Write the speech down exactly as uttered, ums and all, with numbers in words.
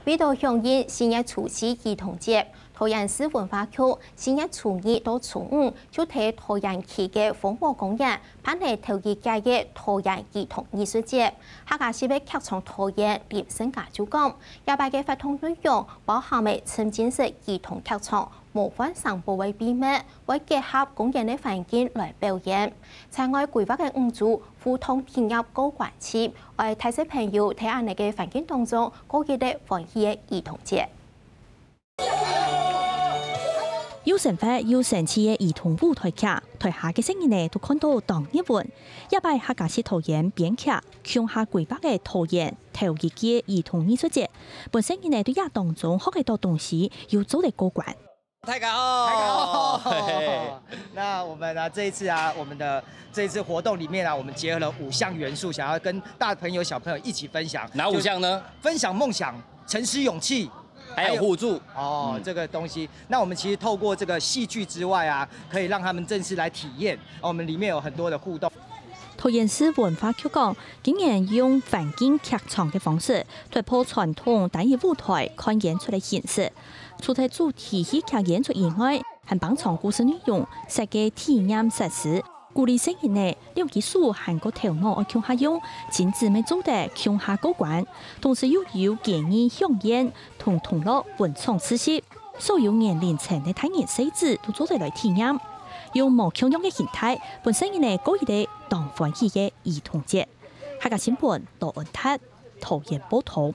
為著響應四月初四兒童節，桃園市文化局四月初二到初五就在桃園區个豐和公園辦理頭一屆个桃園兒童藝術節。客家十月劇場導演林勝嘉就講，這擺个活動內容包含了沉浸式兒童劇場、魔幻城堡个秘密，會結合公園个環境來表演。另外規劃个五組互動體驗過關期，愛大細朋友在恁呢个環境當中過一個歡喜个兒童節。 又生活又生趣个兒童舞台劇，台下个細人仔都看到當入魂。這擺客家式導演編劇，共下規劃个桃園頭一屆兒童藝術節，分細人仔對這當中學得到東西，又做得過關。大家好，大家好。那我們啊，這一次啊，我們的這一次活動裡面啊，我們結合了五項元素，想要跟大朋友小朋友一起分享。哪五項呢？分享夢想、誠實、勇氣，還有互助。哦，這個東西。那我們其實透過這個戲劇之外啊，可以讓他們正式來體驗。哦，我們裡面有很多的互動。桃園市文化局講，今年用環境劇場个方式，突破傳統單一舞台看演出个形式。除忒主題戲劇演出以外，還放長故事內容、設計體驗設施， 鼓勵細人仔兩隻手還過頭腦愛共下用，親子乜做得共下過關，同時又有建議饗宴同同樂分享知識，所有年齡層个大人細子都做得來體驗，用無共樣个形態，分細人仔過一個當歡喜个兒童節。客家新聞，羅恩達，桃園報導。